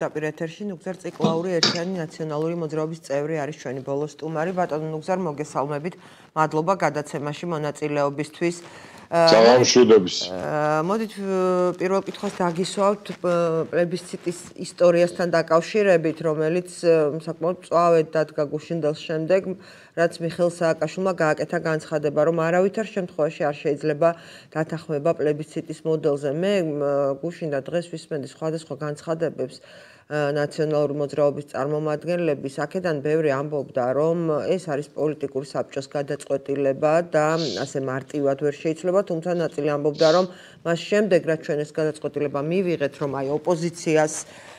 დაპირ ეთერში ნუგზარ ციკლაური ერთიანი ნაციონალური მოძრაობის წევრი არის ჩვენი ბოლო სტუმარი ბატონო ნუგზარ მოგესალმებით მადლობა გადაცემაში მონაწილეობისთვის მშვიდობის მოდით პირველ კითხვას დაგისვავთ პლებისციტის ისტორიასთან დაკავშირებით რომელიც საკმაოდ მწვავედ დადგა გუშინდელს შემდეგ რაც მიხეილ სააკაშვილმა გააკეთა განცხადება რომ არავითარ შემთხვევაში არ შეიძლება დათანხმება პლებისციტის მოდელზე მე გუშინდა დღეს ვისმენდი სხვადასხვა განცხადებებს ნაციონალური მოძრაობის წარმომადგენლების აქედან ბევრი ამბობდა რომ ეს არის პოლიტიკური საბჭოს გადაწყვეტილება და ასე მარტივად ვერ შეიძლება თუმცა ნაწილი ამბობდა რომ მას შემდეგ რაც ჩვენ ეს გადაწყვეტილება მივიღეთ რომ აი ოპოზიციას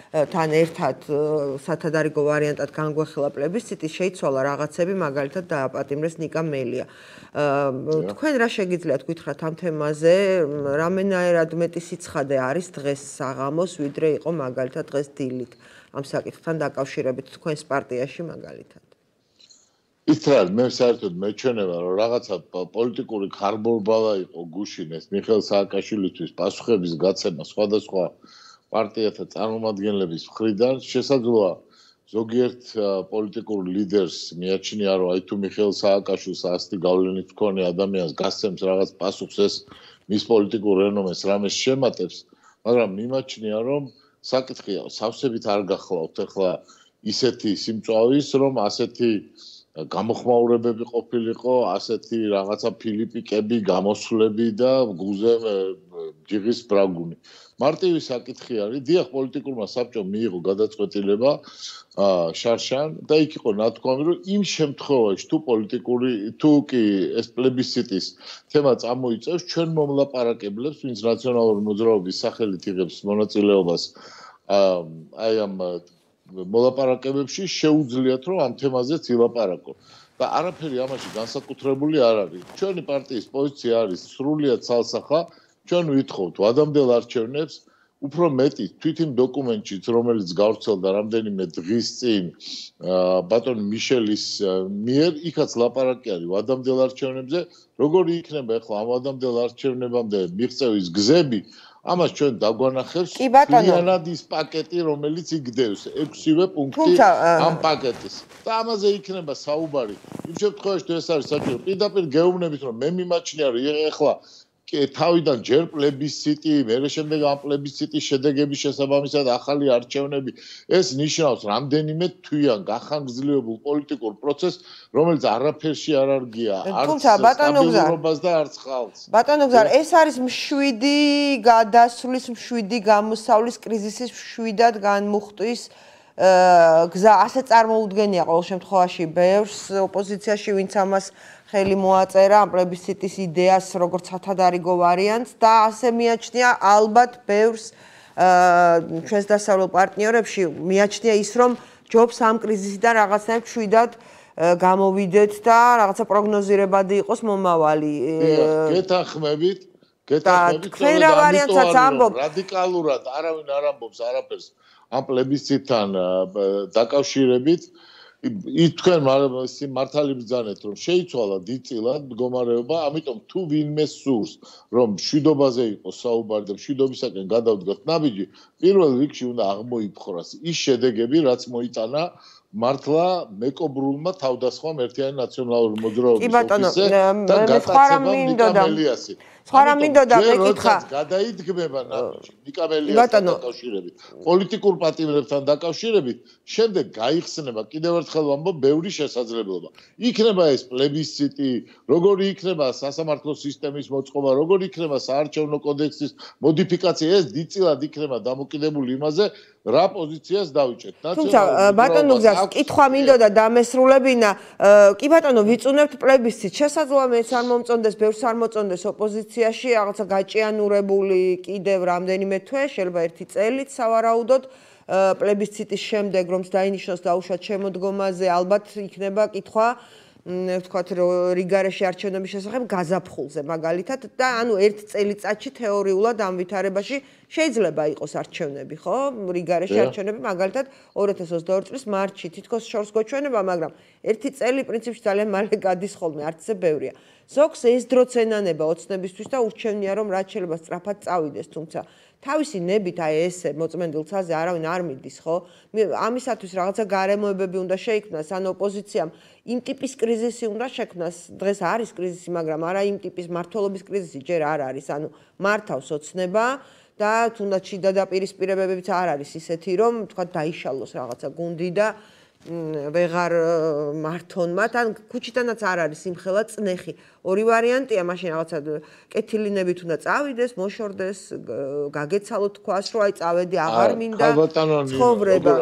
თან ერთად სათადარიგო ვარიანტად განგვეხილა პლებისციტი შეიცვალა რაღაცები მაგალითად დააპატიმრეს ნიკა მელია თქვენ რა შეგიძლიათ გითხრათ ამ თემაზე რამენაერად მეტი სიცხადე არის დღეს საღამოს ვიდრე იყო მაგალითად დღეს დილით ამ საკითხთან დაკავშირებით თქვენს პარტიაში მაგალითად ისრაელ მე საერთოდ მეჩვენება რომ რაღაცა პოლიტიკური ხარბოლბალა იყო გუშინ ეს მიხეილ სააკაშვილისთვის პასუხების გაცემა სხვადასხვა პარტიათა წარმომადგენლების მხრიდან შესაძლოა ზოგიერთ პოლიტიკურ ლიდერს მიაჩნია რომ აი თუ მიხეილ სააკაშვილს ასეთი გავლენით მქონე ადამიანს გასცემს რაღაც პასუხს ეს მის პოლიტიკურ რენომეს რამეს შემატებს მაგრამ მიმაჩნია რომ საკითხი სავსებით არ გახლავთ ახლა ისეთი სიმწვავის რომ ასეთი გამოხმაურებები ყოფილიყო ასეთი რაღაცა ფილიპიკები გამოსვლები და გუზე ჯიღის ბრაგუნი მარტივი საკითხი არის დიახ პოლიტიკურმა საბჭომ მიიღო გადაწყვეტილება შარშან და იქ იყო ნათქვამი რომ იმ შემთხვევაში თუ პოლიტიკური თუ კი ეს პლებისციტის თემა წამოიწევს ჩვენ მომლაპარაკებლებს ვინც ნაციონალური მოძრაობის სახელით იღებს მონაწილეობას აი ამ მოლაპარაკებებში შეუძლიათ რომ ამ თემაზეც ილაპარაკო და არაფერი ამაში განსაკუთრებული არ არის ჩვენი პარტიის პოზიცია არის სრულიად ცალსახა ჩვენ ვითხოვთ ვადამდელ არჩევნებს უფრო მეტი თვით იმ დოკუმენტშიც რომელიც გავრცელდა რამდენიმე დღის წინ ბატონ მიშელის მიერ იქაც ლაპარაკი არის ვადამდელ არჩევნებზე როგორი იქნება ახლა ამ ვადამდელ არჩევნებამდე მიღწევის გზები ამას ჩვენ დაგვანახებს ფიანად ის პაკეტი რომელიც იგდევს 6-ვე პუნქტი ამ პაკეტის და ამაზე იქნება საუბარი იმ შემთხვევაში თუ ეს არის საჭირო პირდაპირ გეუბნებით რომ მე მიმაჩნია რომ ახლა თავიდან ჯერ პლებისციტი, მერე შემდეგ ამ პლებისციტის შედეგების შესაბამისად ახალი არჩევნები ეს ნიშნავს რამდენიმე თვიან გახანგრძლივებულ პოლიტიკურ პროცესს, რომელიც არაფერში არ არგია, არც სტაბილურობას და არც ხალხს. ბატონო გზარ, ეს არის მშვიდი გადასვლის, მშვიდი გამოსავლის კრიზისის მშვიდად განმუხტვის გზა ასე წარმოუდგენია ყოველ შემთხვევაში ბევრს ოპოზიციაში ვინც ამას ხელი მოაწერა ამ პლებისციტის იდეას როგორც სათადარიგო ვარიანტს და ასე მიაჩნია ალბათ ბევრს ჩვენს დასავლელ პარტნიორებში მიაჩნია ის რომ ჯობს ამ კრიზისიდან რაღაცნაირად მშვიდად გამოვიდეთ და რაღაცა პროგნოზირებადი იყოს მომავალი გეთანხმებით თქვენ რა ვარიანტსაც ამბობთ რადიკალურად არავინ არ ამბობს არაფერს ამ პლებისციტთან დაკავშირებით თქვენ მართალი ბრძანეთ რომ შეიცვალა დიდწილად მდგომარეობა ამიტომ თუ ვინმე სურს რომ მშვიდობაზე იყოს საუბარი და მშვიდობისაკენ გადავდგათ ნაბიჯი პირველ რიგში უნდა აღმოიფხვრას ის შედეგები რაც მოიტანა მართლა მეკობრულმა თავდასხმამ ერთიანი ნაციონალური მოძრაობის ოფისზე და გატაცებამ ნიკა მელიასი სხვა რამ მინდოდა მეკითხა გადაიდგმება ნაბიჯი ნიკა მელიასთან დაკავშირებით პოლიტიკურ პატიმრებთან დაკავშირებით შემდეგ გაიხსნება კიდევ ერთხელ ვამბობ ბევრი შესაძლებლობა იქნება ეს პლებისციტი როგორი იქნება სასამართლო სისტემის მოწყობა როგორი იქნება საარჩევნო კოდექსის მოდიფიკაცია ეს დიდწილად იქნება დამოკიდებული იმაზე რა პოზიციას დავიჭერთ თუმცა ბატონო გზას კითხვა მინდოდა დამესრულებინა კი ბატონო ვიწუნებთ პლებისციტს შესაძლოა მეც არ მომწონდეს ბევრს არ მოწონდეს ოპოზიციაში რაღაცა გაჭიანურებული კიდევ რამდენიმე თვე შეიძლება ერთი წელიც სავარაუდოდ პლებისციტის შემდეგ რომ დაინიშნოს დაუშვათ შემოდგომაზე ალბათ იქნება კითხვა ვთქვათ რიგარეში არჩევნების შესახებ გაზაფხულზე მაგალითად და ანუ ერთ წელიწადში თეორიულად ამ ვითარებაში შეიძლება იყოს არჩევნები ხო რიგარეში არჩევნები მაგალითად 2022 წლის მარტში თითქოს შორს გვეჩვენება მაგრამ ერთი წელი პრინციპში ძალიან მალე გადის ხოლმე არც ისე ბევრია ზოგს ეს დროც ენანება ოცნებისთვის და ურჩევნია რომ რაც შეიძლება სწრაფად წავიდეს თუმცა თავისი ნებით აი ესე მოწმენდილ ცაზე არავინ არ მიდის, ხო? ამისათვის რაღაცა გარემოებები უნდა შეიქმნას, ან ოპოზიციამ იმ ტიპის კრიზისი უნდა შექმნას. დღეს არის კრიზისი, მაგრამ არა იმ ტიპის მმართველობის კრიზისი ჯერ არ არის. ანუ მართავს ოცნება და თუნდაც შიდა დაპირისპირებებიც არ არის ისეთი, რომ თქვა დაიშალოს რაღაცა გუნდი და ვეღარ მართონ მათ, ან ქუჩიდანაც არ არის იმხელა წნეხი. ორი ვარიანტია, მაშინ რაღაცა კეთილინებით უნდა წავიდეს, მოშორდეს, გაგეცალოთ თქვას, რომ აი წავედი, აღარ მინდა ცხოვრება.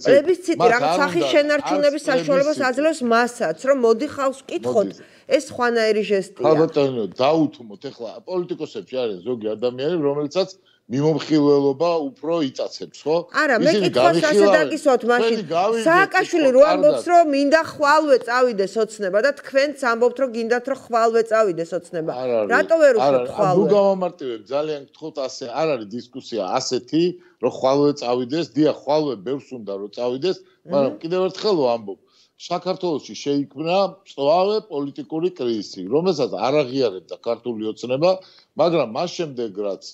პლებისციტი რაღაც სახის შენარჩუნების საშუალებას აძლევს მასაც, რომ მოდი ხავს ვკითხოთ. ეს ხვანაერი ჟესტია. ხალბატონო, დაუთმოთ, ეხლა პოლიტიკოსებში არის ზოგი ადამიანები, რომელიცაც მიმომხილველობა უფრო იწაცებს, ხო? არა, მე კითხვას ასე დაგისვათ მაშინ. სააკაშვილი რო ამბობს, რომ მინდა ხვალვე წავიდეს ოცნება და თქვენც ამბობთ, რომ გინდათ, რომ ხვალვე წავიდეს ოცნება. რატო ვერ უშვებთ ხვალვე? ნუ გავამარტივებ, ძალიან გთხოვთ, ასე არ არის დისკუსია ასეთი, რომ ხვალვე წავიდეს, დიახ, ხვალვე ბევრს უნდა რომ წავიდეს, მაგრამ კიდევ ერთხელ ვამბობ, საქართველოში შეიქმნა სწორე პოლიტიკური კრიზისი, რომელსაც არ აღიარებდა ქართული ოცნება, მაგრამ მას შემდეგ რაც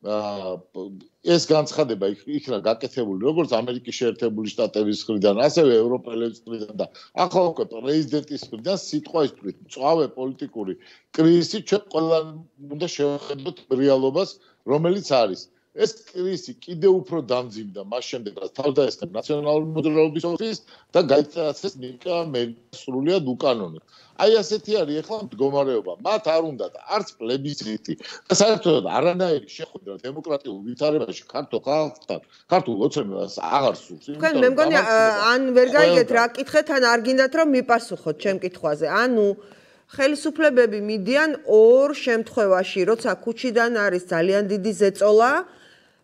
ეს განცხადება იქნა გაკეთებული როგორც ამერიკის შეერთებული შტატების მხრიდან, ასევე ევროპელების მხრიდან და ახლა უკვე პრეზიდენტის მხრიდან სიტყვის თქმით, მწვავე პოლიტიკური კრიზისი ჩვენ ყველამ უნდა შევხედოთ რეალობას, რომელიც არის. ეს კრიზისი კიდევ უფრო დამძიმდა მას შემდეგ, რაც თავდაესხა ნაციონალური მოძრაობის ოფისს და გაიწასეს ნიკა მელიას სრულიად უკანონოდ. აი ასეთი არის ახლა მდგომარეობა. მათ არ უნდათ არც პლებისციტი და საერთოდ არანაირი შეხვედრა დემოკრატიულ ვითარებაში ქართულ ხალხთან, ქართულ ოცნებას აღარ სურს. თქვენ მე მგონი ან ვერ გაიგეთ რა კითხეთ, ან არ გინდათ რომ მიპასუხოთ ჩემ კითხვაზე. ანუ ხელისუფლებები მიდიან ორ შემთხვევაში, როცა ქუჩიდან არის ძალიან დიდი ზეწოლა,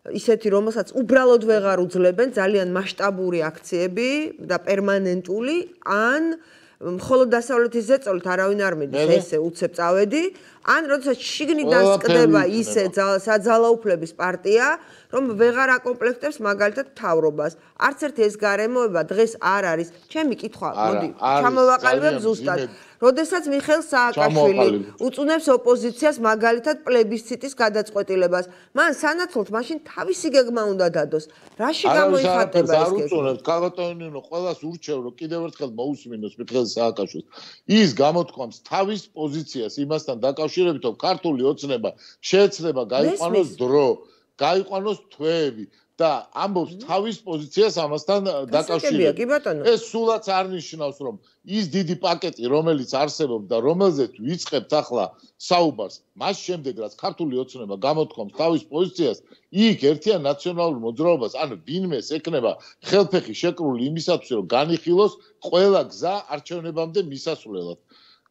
ისეთი რომელსაც უბრალოდ ვეღარ უძლებენ, ძალიან მასშტაბური აქციები და პერმანენტული, ან მხოლოდ დასავლეთის ზეწოლით არავინ არ მიდის, ესე უცებ წავედი, ან როდესაც შიგნიდან სკდება ისე საძალაუფლების პარტია, რომ ვეღარ აკომპლექტებს მაგალითად მთავრობას. არც ერთი ეს გარემოება დღეს არ არის. ჩემი კითხვა, მოდი, ჩამოვაყალიბებ ზუსტად. როდესაც მიხეილ სააკაშვილი უწუნებს ოპოზიციას მაგალითად პლებისციტის გადაწყვეტილებას, მან სანაცვლოდ მაშინ თავისი გეგმა უნდა დადოს. რაში გამოიხატება ეს გეგმა? უწუნებს, ქალბატონინო, ყველას ურჩევ, რომ კიდევ ერთხელ მოусმინოს მიხეილ სააკაშვილს. ის გამოთქვამს თავის პოზიციას იმასთან დაკავშირებით, რომ ქართული ოცნება შეეცდება გაიყვანოს დრო, გაიყვანოს თვეები და ამბობს თავის პოზიციას ამასთან დაკავშირებით. ეს სულაც არ ნიშნავს, რომ ის დიდი პაკეტი, რომელიც არსებობს და რომელზეც ვიწყებთ ახლა საუბარს, მას შემდეგ რაც ქართული ოცნება გამოთქვამს თავის პოზიციას, იქ ერთიან ნაციონალურ მოძრაობას, ან ვინმეს ეკნება ხელფეხი შეკრული იმისათვის, რომ განიხილოს ყველა გზა არჩევნებამდე მისასვლელად.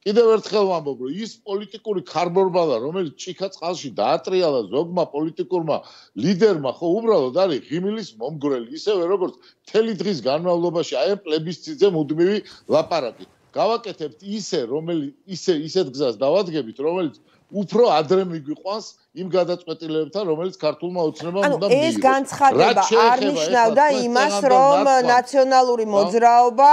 კიდევ ერთხელ ვამბობ, რომ ის პოლიტიკური ქარბორბალა, რომელიც ჭიქა წყალში დაატრიალა ზოგმა პოლიტიკურმა ლიდერმა, ხო უბრალოდ არის ღიმილის მომგვრელი, ისევე როგორც მთელი დღის განმავლობაში აი ამ პლებისციტზე მუდმივი ლაპარაკი. გავაკეთებთ ისეთ გზას დავადგებით, რომელიც უფრო ადრე მიგვიყვანს იმ გადაწყვეტილებებთან, რომელიც ქართულმა ოცნებამ უნდა მიიღოს. ეს განცხადება არ ნიშნავდა იმას, რომ ნაციონალური მოძრაობა,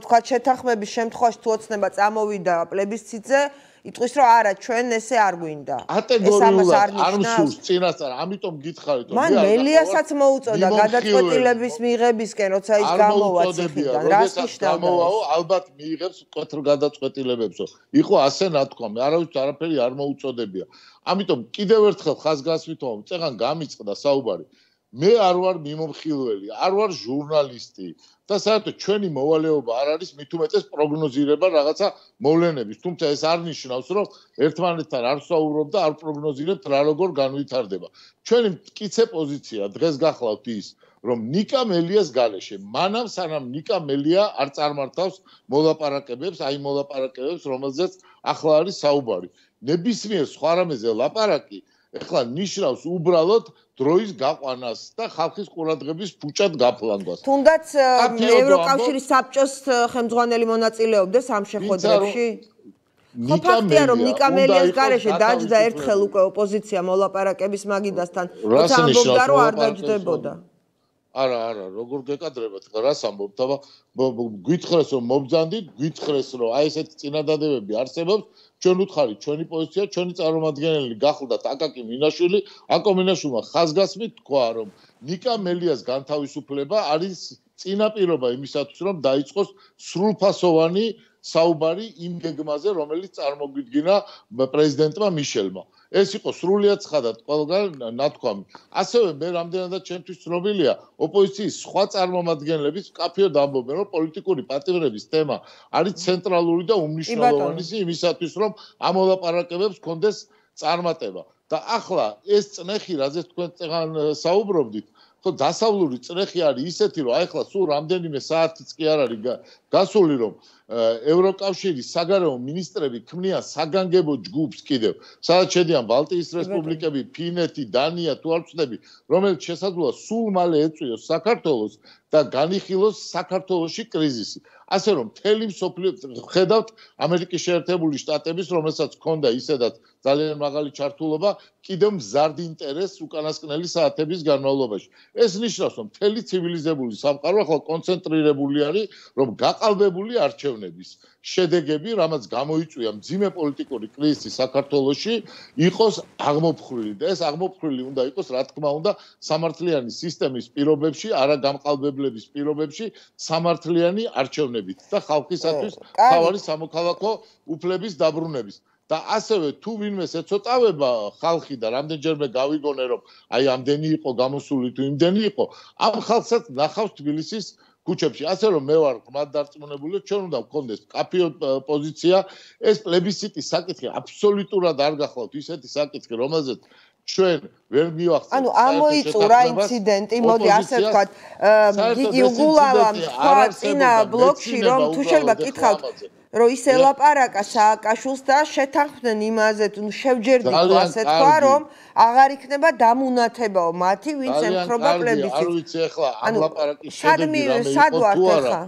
თქვა შეთანხმების შემთხვევაში თუ ოცნება წამოვიდა პლებისციტზე, იტყვის, რომ არა, ჩვენ ესე არ გვინდა. კატეგორიულად არ მსურს წინასწარ, ამიტომ გითხარით, რომ მან მელიასაც მოუწოდა გადაწყვეტილების მიღებისკენ, როცა ის გამოვა ციხიდან. რას ნიშნავდა? ალბათ მიიღებს მკვეთრ გადაწყვეტილებებსო. იყო ასე ნათქვამი, არავის არაფერი არ მოუწოდებია. ამიტომ კიდევ ერთხელ ხაზგასვითობ, წეგან გამიწყდა საუბარი. მე არ ვარ მიმომხილველი, არ ვარ ჟურნალისტი და საერთოდ ჩვენი მოვალეობა არ არის მით უმეტეს პროგნოზირება რაღაცა მოვლენების. თუმცა ეს არ ნიშნავს, რომ ერთმანეთთან არ ვსაუბრობ და არ პროგნოზირებთ რა როგორ განვითარდება. ჩვენი მტკიცე პოზიცია დღეს გახლავთ ის, რომ ნიკა მელიას გარეშე, მანამ სანამ ნიკა მელია არ წარმართავს მოლაპარაკებებს, აი მოლაპარაკებებს, რომელზეც ახლა არის საუბარი. ნებისმიერ სხვა რამეზე ლაპარაკი ეხლა ნიშნავს უბრალოდ დროის გაყვანას და ხალხის ყურადღების ფუჭად გაფლანგვას. თუნდაც ევროკავშირის საბჭოს ხელმძღვანელი მონაწილეობდეს ამ შეხვედრებში? ხო ფაქტია, რომ ნიკა მელიას გარეშე დაჯდა ერთხელ უკვე ოპოზიცია მოლაპარაკების მაგიდასთან, როცა ამბობდა, რომ არ დაჯდებოდა. არა, როგორ გეკადრებათ, რას ამბობთ, აბა გვითხრეს რომ მობძანდით, გვითხრეს რომ აი ესეთი წინადადებები არსებობს, ჩვენ უთხარით, ჩვენი პოზიცია, ჩვენი წარმომადგენელი გახლდათ აკაკი მინაშვილი, აკო მინაშვილმა ხაზგასმით თქვა, რომ ნიკა მელიას განთავისუფლება არის წინაპირობა იმისათვის, რომ დაიწყოს სრულფასოვანი საუბარი იმ გეგმაზე, რომელიც წარმოგვიდგინა პრეზიდენტმა მიშელმა. ეს იყო სრულიად ცხადად ყველგან ნათქვამი. ასევე მე რამდენადაც ჩემთვის ცნობილია, ოპოზიციის სხვა წარმომადგენლების მკაფიოდ ამბობენ, რომ პოლიტიკური პატიმრების თემა არის ცენტრალური და უმნიშვნელოვანესი იმისათვის, რომ ამ მოლაპარაკებებს კონდეს წარმატება. და ახლა ეს წნეხი, რაზეც თქვენ წეგან საუბრობდით, ხო დასავლური წნეხი არის ისეთი, რომ ახლა სულ რამდენიმე საათიც კი არ არის გასული, რომ ევროკავშირის საგარეო მინისტრები ქმნიან საგანგებო ჯგუფს კიდევ, სადაც შედიან ბალტიის რესპუბლიკები, ფინეთი, დანია, თუ არ ვცდები, რომელიც შესაძლოა სულ მალე ეწვიოს საქართველოს და განიხილოს საქართველოში კრიზისი. ასე რომ მთელი მსოფლიო ხედავთ ამერიკის შეერთებული შტატების, რომელსაც ჰქონდა ისედაც ძალიან მაღალი ჩართულობა, კიდევ მზარდ ინტერესს უკანასკნელი საათების განმავლობაში. ეს ნიშნავს, რომ მთელი ცივილიზებული სამყარო ახლა კონცენტრირებული არის, რომ გაყალბებული არჩევნების შედეგები, რამაც გამოიწვია მძიმე პოლიტიკური კრიზისი საქართველოში, იყოს აღმოფხვრილი და ეს აღმოფხვრილი უნდა იყოს, რა თქმა უნდა, სამართლიანი სისტემის პირობებში, არა გამყალბებლების პირობებში, სამართლიანი არჩევნებით და ხალხისათვის თავარი სამოქალაქო უფლების დაბრუნების. და ასევე თუ ვინმეს ეცოტავება ხალხი და რამდენჯერმე გავიგონე, რომ აი ამდენი იყო გამოსული თუ იმდენი იყო, ამ ხალხსაც ნახავს თბილისის ქუჩებში. ასე რომ მე ვარ ღრმად დარწმუნებული, ჩვენ უნდა გქონდეს მკაფიო პოზიცია. ეს პლებისციტის საკითხი აბსოლუტურად არ გახლავთ ისეთი საკითხი, რომელზეც ჩვენ ვერ მივახცევთ. ანუ ამოიწურა ინციდენტი, მოდი ასე ვთქვათ, გიგი უგულავამ თქვა წინა ბლოკში, რომ თუ შეიძლება გითხავთ, რომ ის ელაპარაკა სააკაშვილს და შეთანხმდნენ იმაზე, თუ შევჯერდით ასე თქვა, რომ აღარ იქნება დამუნათებაო მათი, ვინც ემხრობა პლებისციტს. არ ვიცი ახლა ამ ლაპარაკის შედეგი რამე იყო თუ არა.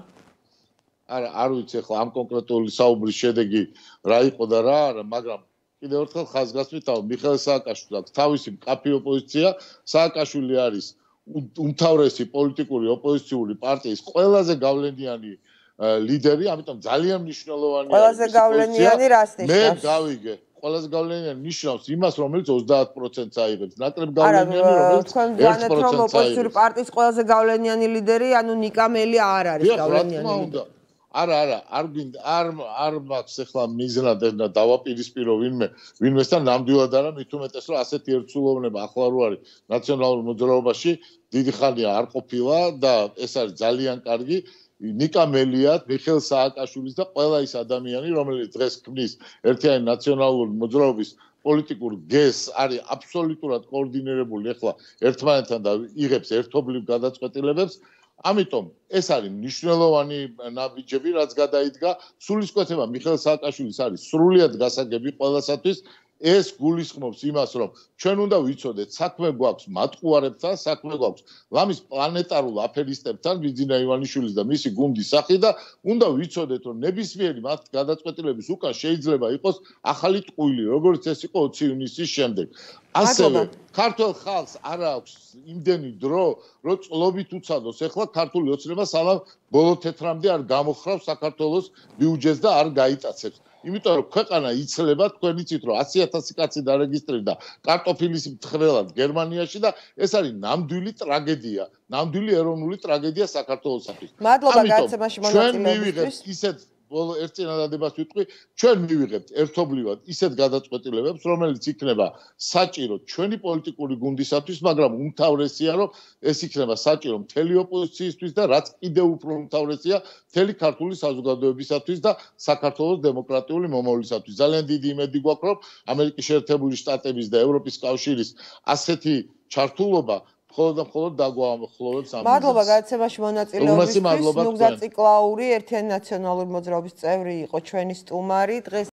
არა, არ ვიცი ახლა ამ კონკრეტული საუბრის შედეგი რა იყო და რა არა, მაგრამ კიდევ ერთხელ ხაზგასმით, მიხეილ სააკაშვილს აქვს თავისი მკაფიო პოზიცია. სააკაშვილი არის უმთავრესი პოლიტიკური ოპოზიციური პარტიის ყველაზე გავლენიანი ლიდერი, ამიტომ ძალიან მნიშვნელოვანია. ყველაზე გავლენიანი რას ნიშნავს? მე გავიგე, ყველაზე გავლენიანი ნიშნავს იმას, რომელიც 30%-ს აიღებს. ნაკლებ გავლენიანი, რომელიც 1%-ს რომ ოპოზიციური პარტიის ყველაზე გავლენიანი ლიდერი, ანუ ნიკა მელი არ არის გავლენიანი ლიდერი. არა, არ მაქვს ახლა მიზნად და დავაპირისპირო ვინმესთან ნამდვილად არა, მით უმეტეს რომ ასეთი ერთსულოვნება ახლა რო არის ნაციონალურ მოძრაობაში, დიდი ხანია არ ყოფილა და ეს არის ძალიან კარგი. ნიკა მელიათ, მიხეილ სააკაშვილის და ყველა ის ადამიანი, რომელიც დღეს ქმნის ერთიანი ნაციონალური მოძრაობის პოლიტიკურ გეზს, არის აბსოლუტურად კოორდინირებული ახლა ერთმანეთთან და იღებს ერთობლივ გადაწყვეტილებებს. ამიტომ ეს არის მნიშვნელოვანი ნაბიჯები, რაც გადაიდგა. სულისკვეთება მიხეილ სააკაშვილის არის სრულიად გასაგები ყველასათვის. ეს გულისხმობს იმას, რომ ჩვენ უნდა ვიცოდეთ, საქმე გვაქვს მატყუარებთან, საქმე გვაქვს ლამის პლანეტარულ აფერისტებთან, ბიძინა ივანიშვილის და მისი გუნდის სახით და უნდა ვიცოდეთ, რომ ნებისმიერი მათ გადაწყვეტილების უკან შეიძლება იყოს ახალი ტყუილი, როგორც ეს იყო 20 ივნისის შემდეგ. ასევე ქართულ ხალხს არ აქვს იმდენი დრო, რომ წლობით უცადოს. ეხლა ქართული ოცნება სალამ ბოლო თეთრამდე არ გამოხრავს საქართველოს ბიუჯეტს და არ გაიტაცებს. იმიტომ რომ ქვეყანა იცლება, თქვენ იცით რომ 100,000 კაცი დარეგისტრირდა კარტოფილის მთხრელად გერმანიაში და ეს არის ნამდვილი ტრაგედია, ნამდვილი ეროვნული ტრაგედია საქართველოსთვის. მადლობა გაცემაში მონაწილეობისთვის. ისეთ ბოლო ერთწინადადებას ვიტყვი, ჩვენ მივიღებთ ერთობლივად ისეთ გადაწყვეტილებებს, რომელიც იქნება საჭირო ჩვენი პოლიტიკური გუნდისათვის, მაგრამ უმთავრესია, რომ ეს იქნება საჭირო მთელი ოპოზიციისთვის და რაც კიდევ უფრო უმთავრესია, მთელი ქართული საზოგადოებისათვის და საქართველოს დემოკრატიული მომავლისათვის. ძალიან დიდი იმედი გვაქვს, რომ ამერიკის შეერთებული შტატების და ევროპის კავშირის ასეთი ჩართულობა მხოლოდ დაგვაახლოვებს ამ. მადლობა გადაცემაში მონაწილეობისთვის. ნუგზა ციკლაური ერთიანი ნაციონალური მოძრაობის წევრი იყო ჩვენი სტუმარი დღეს.